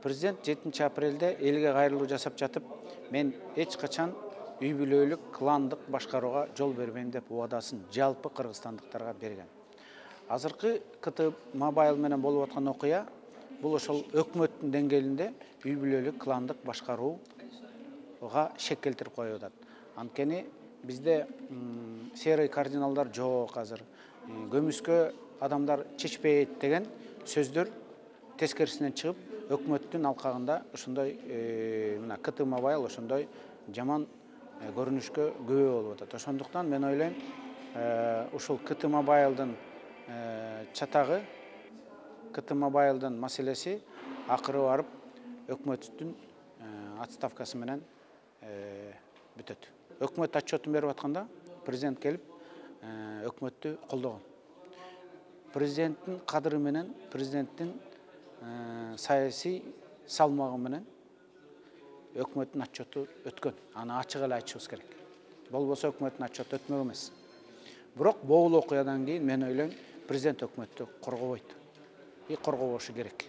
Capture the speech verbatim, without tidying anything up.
Президент жетинчи апрелде элге кайрылуу жасап жатып, мен эч качан үй бүлөлүк, кландык башкарууга жол бербейм деп убадасын жалпы кыргызстандыктарга берген. Азыркы КТ Мобайл менен болуп аткан окуя бул ошол өкмөттүн деңгээлинде үй бүлөлүк, кландык башкарууга шек келтирип коюп атат. Анткени бизде серый кардиналдар жок азыр. Көмүскө адамдар чечпейт деген сөздөр тескерисинен чыгып, өкмөттүн алкагында ошондой мына КТ Мобайл ошондой жаман көрүнүшкө күбө болуп атат. Ошондуктан мен ойлойм, ушул КТ Мобайлдын чатагы, КТ Мобайлдын маселеси акыры барып өкмөттүн отставкасы менен бүтөт. Өкмөт отчетун берип атканда президент келип өкмөттү колдогон. Президенттин кадыры менен, президенттин саясий салмагы менен өкмөттүн отчету өткөн. Аны ачык эле айтышыбыз керек. Болбосо өкмөттүн отчету өтмөк эмес. Бирок бул окуядан кийин мен ойлойм, президент өкмөттү коргобойт. И коргобошу керек.